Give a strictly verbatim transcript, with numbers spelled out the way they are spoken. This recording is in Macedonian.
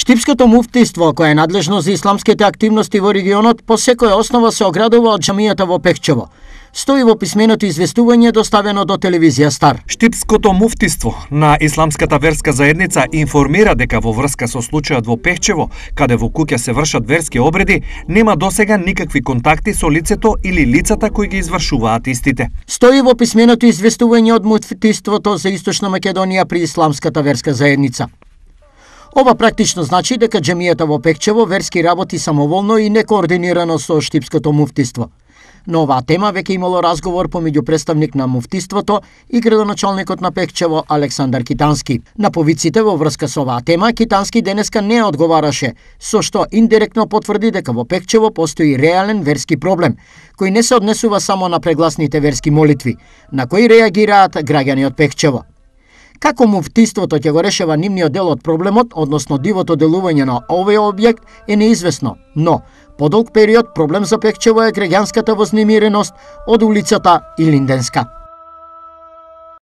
Штипското муфтиство, кое е надлежно за исламските активности во регионот, по секоја основа се оградува од џамијата во Пехчево. Стои во писменото известување доставено до телевизија Стар. Штипското муфтиство на исламската верска заедница информира дека во врска со случајот во Пехчево, каде во куќа се вршат верски обреди, нема досега никакви контакти со лицето или лицата кои ги извршуваат истите. Стои во писменото известување од муфтиството за Источна Македонија при исламската верска заедница. Ова практично значи дека џамијата во Пехчево верски работи самоволно и некоординирано со Штипското муфтиство. На оваа тема веќе имало разговор помеѓу представник на муфтиството и градоначалникот на Пехчево Александар Китански. На повиците во врска со оваа тема Китански денеска не одговараше, со што индиректно потврди дека во Пехчево постои реален верски проблем, кој не се однесува само на прегласните верски молитви, на кои реагираат граѓани од Пехчево. Како муфтиството ќе го решава нивниот дел од проблемот, односно дивото делување на овој објект, е неизвестно, но подолг период проблем за Пехчево е граѓанската вознемиреност од улицата Илинденска.